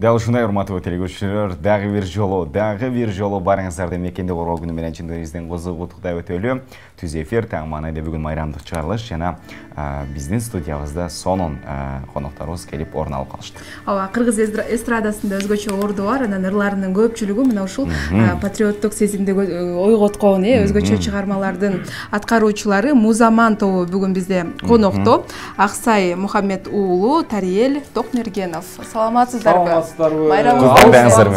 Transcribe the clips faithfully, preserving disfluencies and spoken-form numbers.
Дал ушундай урматтуу телегөрүүчүлөр, дагы бир жолу, дагы бир жолу барыңыздарды мекенди коргоо күнү менен чындыгыбыздан кызыгуудай өтөлү. Түз эфир таң маанайда бүгүн майрамдык чыгарылыш жана биздин студиябызда сонун конокторубуз келип орун алып калышты. Ооба, кыргыз эстрадасында өзгөчө орду бар, анан ырларынын көпчүлүгү мына ушул патриоттук сезимди ойготкон, э, өзгөчө чыгармалардын аткаруучулары Музаман тобу бүгүн бизде конокто. Аксай Мухаммед уулу Тариел Токмергенов. Саламатсыздарбы? Майрамыңыздар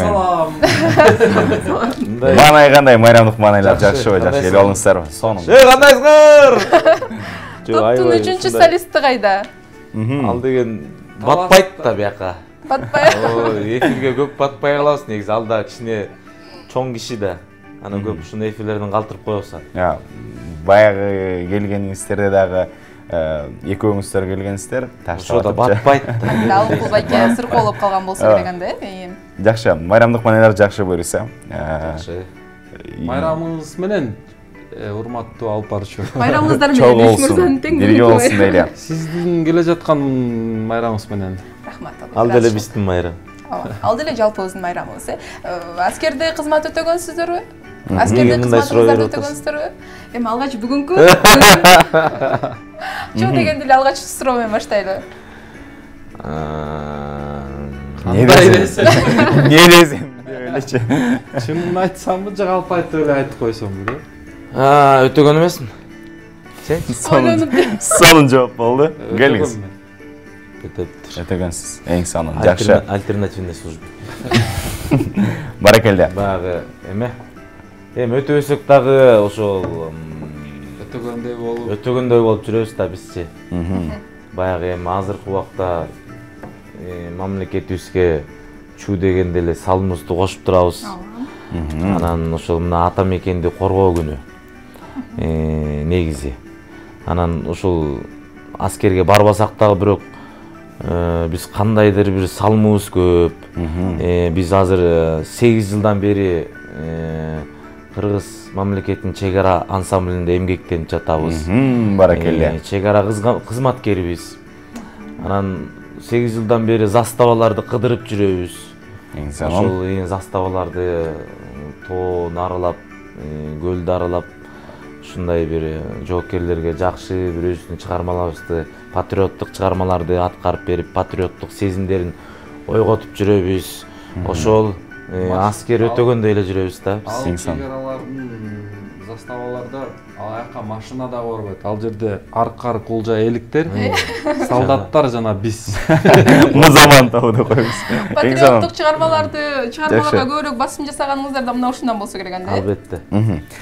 Маанай кандай, майрамдык маанайлар жакшыбы, жакшы келип алыңыздарбы? Сонун. Эй, кандайсыңар? Топтун үчүнчү солисти кайда? Ал деген батпайт да бияка. Батпай. Ой, эфирге көп батпай калабыз, негизи алда кичине чоң киши да. Анан көп ушундай эфирлерден калтырып коебуз. Я, баягы келгениңиздерде дагы экөөңүздөр келгенсиздер, таштап да батпайт. Дал байке сырколоп калган болсо керек анда, э? Жакшы, майрамдык маанайлар жакшы буйруса. Жакшы. Майрамыңыз менен урматтуу алып барчу. Майрамыңыздар менен Беш мырзанын тең бирге болсун дейли. Сиздин келе жаткан майрамыңыз менен. Рахмат. Ал деле биздин майрам. Ал деле жалпыбыздын майрамыбыз, э? Аскерде кызмат өтөгөнсүздөрбү? Аскерде кызматыңыздарды өтөгөнсүздөрбү? Эми алгач бүгүнкү Чоң дегенде эле алгач суроо менен баштайлы. Не десем? Не десем? Элечи. Чынын айтсамбы, же калп айтып эле айтып койсомбу, да? А, өтөгөн эмесмин. Сен? Сонун жооп болду. Келиңиз. Өтөптүр. Өтөгөнсүз. Эң сонун. Жакшы. Альтернативный служба. Баракелде. Баягы эме. Эми өтөбөсөк дагы ошол өтөгөндөй болуп, өтөгөндөй болуп жүрөбүз да бизчи. Баягы эми азыркы убакта мамлекетибизге чуу дегенде эле салымыбызды кошуп турабыз. Анан ошол мына ата мекенди коргоо күнү. Негизи. Анан ушул аскерге барбасак дагы бирок биз кандайдыр бир салымыбыз көп. Биз азыр сегиз жылдан бери Кыргыз мамлекетинин чек ара ансамблинде эмгектенип жатабыз. Баракелде. Чек ара кызматкерибиз. Анан сегиз жылдан бери заставаларды кыдырып жүрөбүз. Эң сонун. Ошол заставаларды тоон аралап, көлдү аралап, ушундай бир жоокерлерге жакшы бир өзүбүздүн чыгармаларыбызды, патриоттук чыгармаларды аткарып берип, патриоттук сезимдерин ойготуп жүрөбүз. Ошол аскер өтөгөндөй эле жүрөбүз да. Ал чек-аралардын заставаларда аяка машина да барбайт. Ал жерде аркар кулжа эликтер, солдаттар жана биз. Музаман тобу деп коебуз. Патриоттук чыгармаларды чыгармаларга көбүрөөк басым жасаганыңыздар да мына ушундан болсо керек анда. Албетте.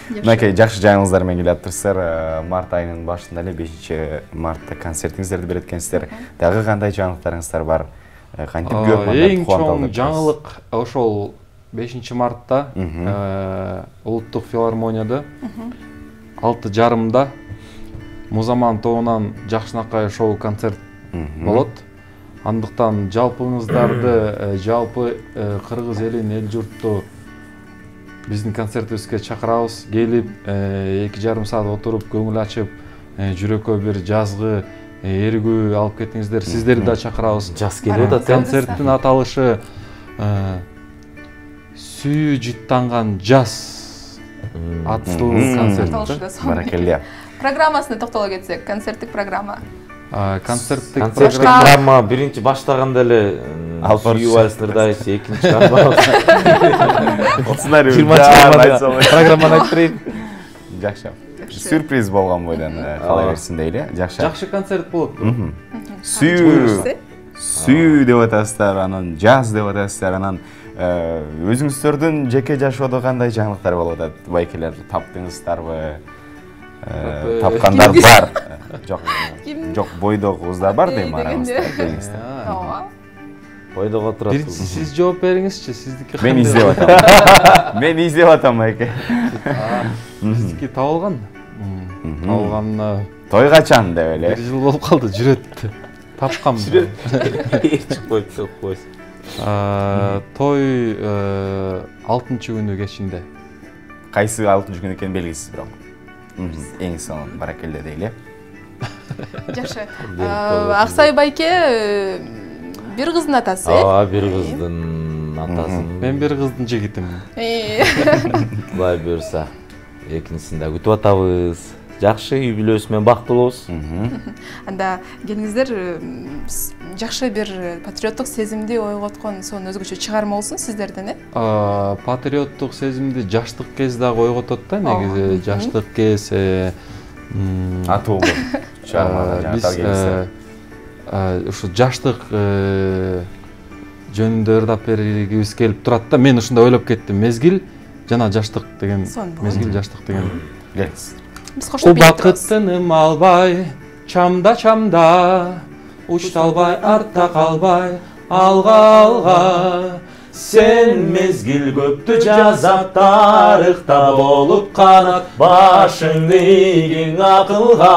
Мынакей жакшы жаңылыктар менен келип атырсыздар. Март айынын башында эле бешинчи мартта концертиңиздерди берет экенсиздер. Дагы кандай жаңылыктарыңыздар бар? Кантип көп эң чоң жаңылык ошол бешинчи мартта улуттук филармонияда алты жарымда Музаман тобунан Жакшынакай шоу концерт болот. Андыктан жалпыңыздарды, жалпы кыргыз элин, эл журтту биздин концертибизге чакырабыз. Келип эки жарым саат отуруп, көңүл ачып, жүрөккө бир жазгы эргүү алып кетиңиздер. Сиздерди да чакырабыз. Жаз келип атат. Концерттин аталышы сүйүү жыттанган жаз аттуу концерт. Баракелде. Программасына токтоло кетсек, концерттик программа. Концерттик программа биринчи баштаганда эле сүйүү вальстырдайбыз, экинчи программаны айтып берейин. Жакшы. Сюрприз болгон бойдон кала берсин дейли. Жакшы. Жакшы концерт болот. Сүйүү. Сүйүү деп атасыздар, анан жаз деп атасыздар, анан өзүңүздөрдүн жеке жашоодо кандай жаңылыктар болуп атат? Байкелер таптыңыздарбы? Тапкандар бар. Жок. Жок, бойдогу кыздар бар дейм арабызда. Ооба. Бойдого турат. Бир сиз жооп бериңизчи, сиздики. Мен издеп атам. Мен издеп атам байке. Сиздики табылган. Табылганына той качан деп эле. бир жыл болуп калды, жүрөт. Тапкам. Чык коюп койсун. Той алтынчы күнү кечинде. Кайсы алтынчы күнү экени белгисиз бирок. Эң сонун баракелде дейли. Жакшы. Аксай байке бир кыздын атасы. Ооба, бир кыздын атасымын. Мен бир кыздын жигитимин. Кудай буюрса, экинчисин да күтүп атабыз. Жакшы үй бүлөсү менен бактылуу болобуз. Анда келиңиздер, жакшы бир патриоттук сезимди ойготкон сонун өзгөчө чыгарма болсун сиздерден, э? Патриоттук сезимди жаштык кез дагы ойготот да, негизи. Жаштык кез атуулуу чыгармада жаштар келиңиздер. Ушу жаштык жөнүндө ырдап бергибиз келип турат да. Мен ушундай ойлоп кеттим. Мезгил жана жаштык деген, мезгил жаштык деген. Келиңиз. Биз коштоп билип турабыз. Убакыттыным албай, чамда-чамда, учталбай, артта калбай, алга-алга. Сен мезгил көптү жазат, тарыхта болуп канат, башыңды ийгиң акылга.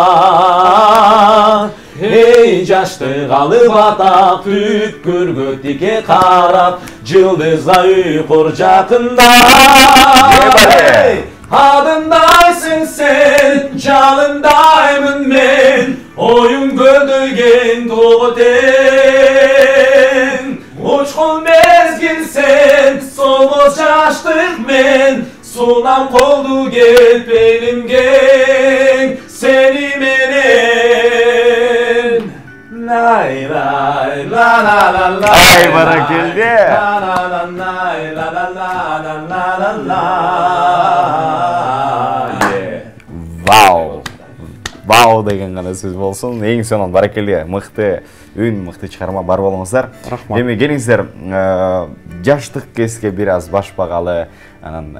Эй, жаштык алып атап, түпкүргө тике карап, жылдызга уйкур жакында. Адымдайсың сен, жалындаймын мен, оюң көлдөйген тогу тең. Учкун мезгил сен, солмоз жаштык мен, сунам колду кел белимге, сени менен. Лай лай ла ла ла ла. Ай, баракелде. Вау. Вау деген гана сөз болсун. Эң сонун баракелде. Мыкты үн, мыкты чыгарма бар болуңуздар. Рахмат. Эми келиңиздер, жаштык кезге бир аз баш багалы, анан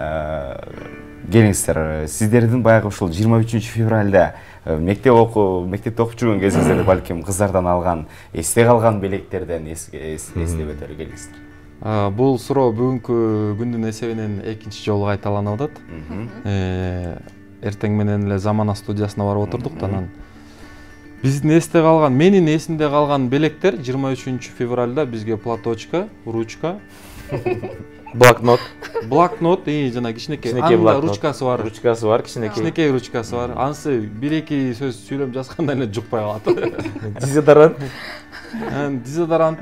келиңиздер, сиздердин баягы ушул жыйырма үчүнчү февралда мектеп окуу, мектепте окуп жүргөн кезиңизде балким кыздардан алган, эсте калган белектерден эстеп өтөлү келиңиздер. Бул суроо бүгүнкү күндүн эсебинен экинчи жолу кайталанып атат. Эртең менен эле Замана студиясына барып отурдук да, анан биздин эсте калган, менин эсимде калган белектер жыйырма үчүнчү февралда бизге платочка, ручка, Блокнот. Блокнот, и жана кичинекей, Анда ручкасы бар. Ручкасы бар, кичинекей. Кичинекей ручкасы бар. Анысы бир-эки сөз сүйлөп жазганда эле жукпай калат. Дезодорант. Дезодорант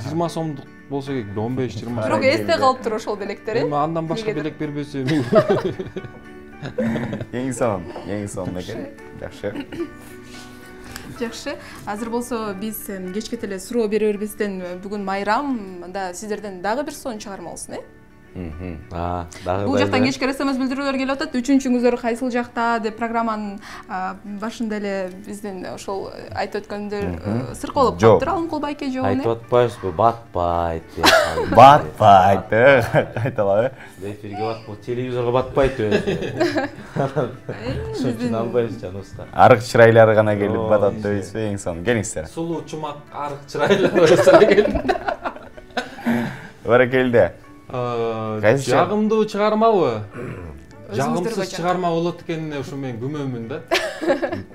жыйырма сомдук болсо керек, он беш жыйырма. Бирок эсте калыптыр ошол белектер, э? Андан башка белек бербесе. Эң сонун, эң сонун экен. Жакшы. Жакшы. Азыр болсо биз кечке эле суроо бере бербестен бүгүн майрам, анда сиздерден дагы бир сонун чыгарма болсун, э? А, дагы. Бул жактан кечке эс эм эс билдирүүлөр келип атат. Үчүнчүңүздөр кайсыл жакта деп программанын башында эле биздин ошол айтып өткөндөр сырколоп калыптыр. Алымкул байке жоону. Айтып атпайбызбы? Батпайт. Батпайт, кайталабы? Эфирге батпайт, телевизорго батпайт өзү. Ошон албайбыз жаныбызга. Арык чырайлары гана келип батат дейсизби? Эң сонун. Келиңиздер. Сулуу чумак арык чырайлар болсо келди. Баракелде. Жагымдуу чыгармабы? Жагымсыз чыгарма болот экенине ушу мен күмөнмүн да.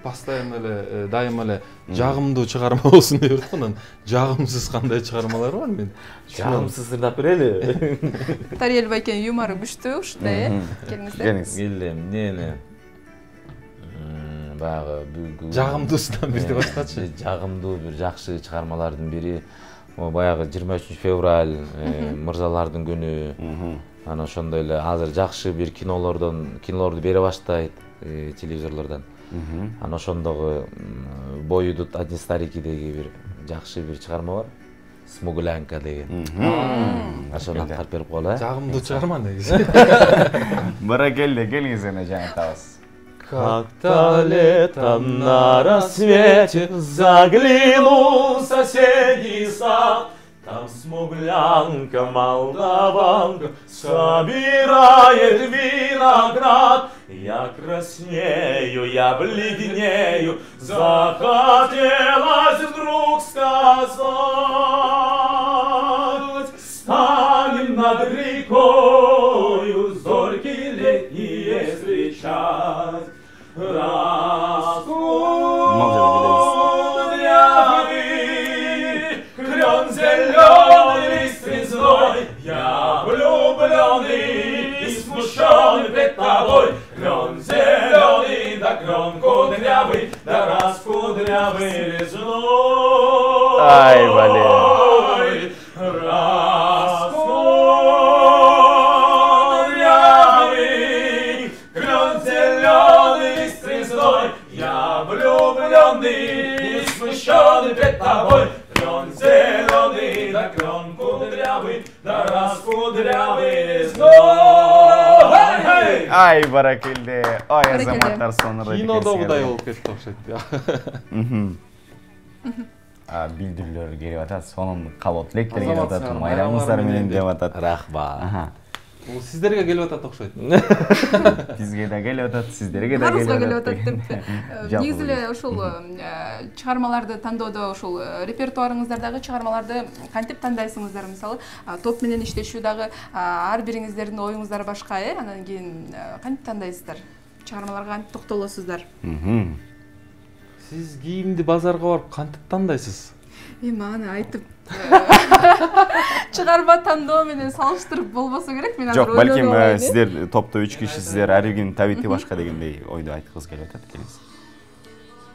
Постоянно эле, дайыма эле жагымдуу чыгарма болсун деп атат. Анан жагымсыз кандай чыгармалар бар мен? Жагымсыз ырдап берели. Тариел байкенин юмору күчтүү ушундай, э? Келиңиздер. Келиңиз. Келем, эмне? Баягы бүгүн жагымдуусунан бирди баштачы. Жагымдуу бир жакшы чыгармалардын бири баягы жыйырма үчүнчү февраль, мырзалардын күнү. Анан ошондой эле азыр жакшы бир кинолордон, кинолорду бере баштайт телевизорлордон. Анан ошондогу Бой идут одни старики-деги бир жакшы бир чыгарма бар. Смуглянка деген. Ошону аткарып берип коелу, э? Жагымдуу чыгарма негизи. Баракелде, келиңиз эне жаңы табыз. Как-то летом на рассвете заглянул в соседний сад. Там смуглянка, молдаванка собирает виноград. Я краснею, я бледнею, захотелось вдруг сказать. Станем над рекою зорьки летние встречать. Раскудрявый клен зеленый лист резной. Я влюбленный и смущенный пред тобой. Клен зеленый, да клен кудрявый, да раскудрявый резной. Ай, блин. тобой. Клен зеленый, да клен кудрявый, да раскудрявый весной. Ай, баракелде. Ой, азаматтар сонура. Кинодогудай болуп кетти окшойт. Билдирүүлөр келип атат, сонун кабат электер келип атат, майрамыңыздар менен деп атат. Рахмат. Бул сиздерге келип атат окшойт. Бизге да келип атат, сиздерге да келип атат. Баарыбызга келип атат деп. Негизи эле ушул чыгармаларды тандоодо ушул репертуарыңыздардагы чыгармаларды кантип тандайсыңыздар? Мисалы, топ менен иштешүү дагы ар бириңиздердин оюңуздар башка, э? Анан кийин кантип тандайсыздар? Чыгармаларга кантип токтолосуздар? Сиз кийимди базарга барып кантип тандайсыз? Эми аны айтып чыгарма тандоо менен салыштырып болбосо керек. Мен азыр жок, балким сиздер топто үч кишисиздер, ар биринин табити башка дегендей ойду айткыңыз келип атат экенсиз.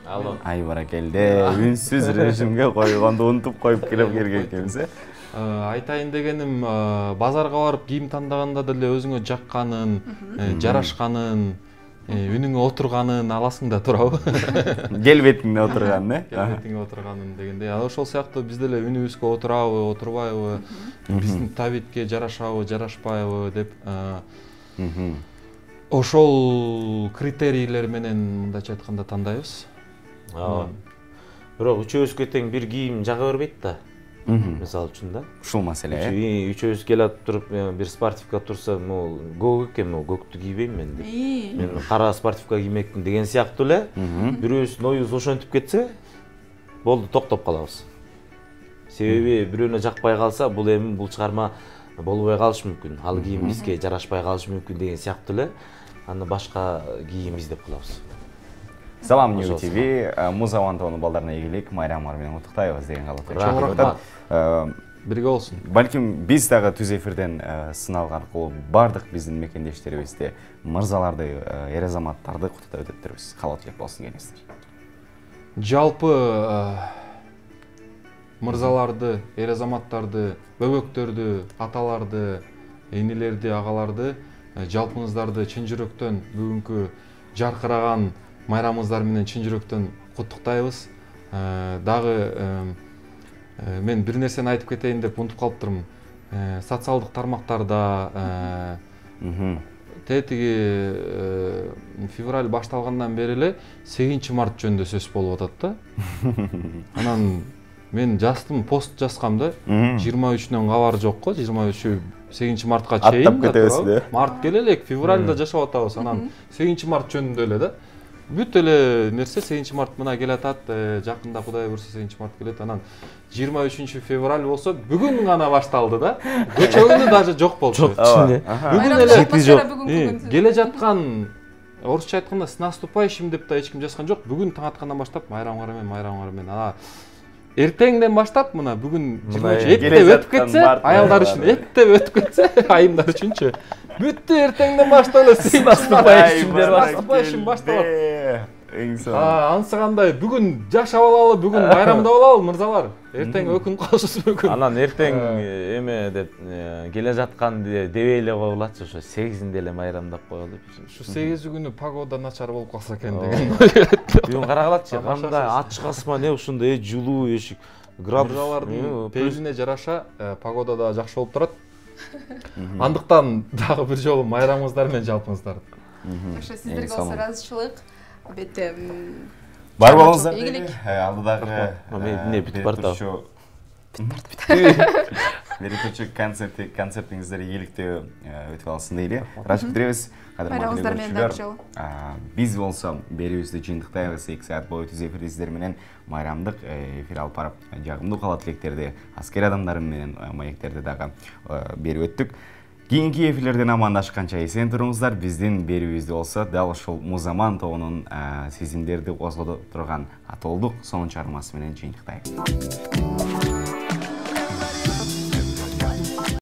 Алло. Ай баракелде, үнсүз режимге койгонду унутуп коюп келип келген экенбиз, э? Айтайын дегеним, базарга барып кийим тандаганда деле өзүңө жакканын, жарашканын, үнүңө отурганын аласың да турабы? Келбетиңде отурганын, э? Келбетиңе отурганын дегендей. Ошол сыяктуу биз деле үнүбүзгө отурабы, отурбайбы, биздин табитке жарашабы, жарашпайбы деп ошол критерийлер менен мындайча айтканда тандайбыз. Бирок үчөөбүзгө тең бир кийим жага бербейт да. Мисалы үчүн да. Ушул маселе, э? Үчөөбүз келип туруп, бир спортивка турса, могу көк экен, могу көктү кийбейм мен деп. Мен кара спортивка киймекмин деген сыяктуу эле. Бирөөбүздүн оюбуз ошентип кетсе, болду, токтоп калабыз. Себеби бирөөнө жакпай калса, бул эми бул чыгарма болбой калышы мүмкүн. Ал кийим бизге жарашпай калышы мүмкүн деген сыяктуу эле. Аны башка кийим издеп калабыз. Салам Нью ТВ, Музаман тобунун балдарына ийгилик, майрамыңар менен куттуктайбыз деген каалап. Бирге болсун. Балким биз дагы түз эфирден сыналгы аркылуу бардык биздин мекендештерибизди, мырзаларды, эр азаматтарды куттуктап өтөттүрбүз. Каалап элек болсун келиңиздер. Жалпы мырзаларды, эр азаматтарды, бөбөктөрдү, аталарды, энелерди, агаларды, жалпыңыздарды чын жүрөктөн бүгүнкү жаркыраган майрамыңыздар менен чын жүрөктөн куттуктайбыз. Дагы мен бир нерсени айтып кетейин деп унутуп калыптырмын. Социалдык тармактарда тетиги февраль башталгандан бери эле сегизинчи март жөнүндө сөз болуп атат да. Анан мен жаздым, пост жазгам да. жыйырма үчүнөн кабар жок го, жыйырма үчү сегизинчи мартка чейин. Аттап кетебиз да. Март келе элек, февралда жашап атабыз. Анан сегизинчи март жөнүндө эле да. Бүт эле нерсе сегизинчи март мына келатат, жакында Кудай буйрса сегизинчи март келет. Анан жыйырма үчүнчү февраль болсо бүгүн гана башталды да. Көчөгүнү даже жок болчу. Бүгүн эле келе жаткан, орусча айтканда с наступающим деп да эч ким жазган жок. Бүгүн таң аткандан баштап майрамыңар менен, майрамыңар менен. Ана эртеңден баштап мына бүгүн жыйырма үч эттеп өтүп кетсе, аялдар үчүн эттеп өтүп кетсе, айымдар үчүнчү бүттү эртеңден баштап эле с наступающим башталат. Анысы кандай, бүгүн жашап алалы, бүгүн майрамдап алалы мырзалар. Эртең өкүнүп калышыбыз мүмкүн. Анан эртең эме деп келе жаткан дебей эле коелачы, ошо сегизинде эле майрамдап коелу деп. Ушу сегизи күнү погода начар болуп калса экен деген. Бүгүн карагалачы, кандай ачык асман, ушундай жылуу эшик. Мырзалардын пейилине жараша погода да жакшы болуп турат. Андыктан дагы бир жолу майрамыңыздар менен жалпыңыздарды. Ошо сиздерге болсо ыраазычылык. Бетте бар болуңуздар. Алдыдагы эмне бүтүп барат. Мерекечи концерти, концертиңиздер ийгиликтүү өтүп алсын дейли. Ырашып күтүбүз. Майрамыңыздар менен дагы жолу. Биз болсо берүүбүздү жыйынтыктайбыз. эки саат бою түз эфирде сиздер менен майрамдык эфир алып барып, жагымдуу каалоо тилектерди, аскер адамдарым менен маектерди дагы берип өттүк. Кийинки эфирлерден амандашканча эсен туруңуздар. Биздин берүүбүздө болсо дал ушул Музаман тобунун сезимдерди козгото турган Атолдук сонун чыгармасы менен жыйынтыктайбыз.